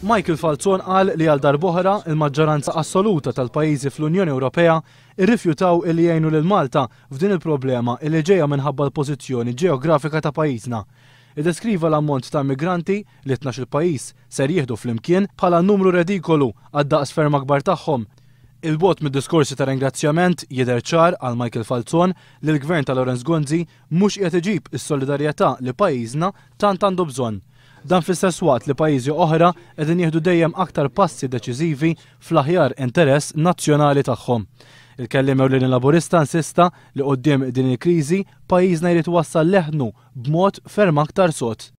Michael Falzon qal li għal darb'oħra il-maġġoranza assoluta tal-pajjiżi fl-Unjoni Ewropea rrifjutaw illi jgħinu lil Malta f'din il-problema illi ġejja minħabba l-pożizzjoni ġeografika ta' pajjiżna. Iddeskriva l-ammont ta' immigranti li 12-il pajjiż ser jieħdu flimkien bħala numru redikolu għad-daqs ferm akbar tagħhom. 'Il bogħod mid-diskorsi ta' ringrazzjament, jidher ċar għal Michael Falzon li l-Gvern ta' Lawrence Gonzi mhux qiegħed iġib is-solidarjetà li pajjiżna tant għandu bżonn. Dan fl-istess waqt li pajjiżi oħra qegħdin jieħdu dejjem aktar passi deċiżivi fl-aħjar interess nazzjonali tagħhom. Il-kelliem ewlieni Laburista insista li quddiem din il-kriżi pajjiżna jrid iwassal leħnu b'mod ferm aktar sod.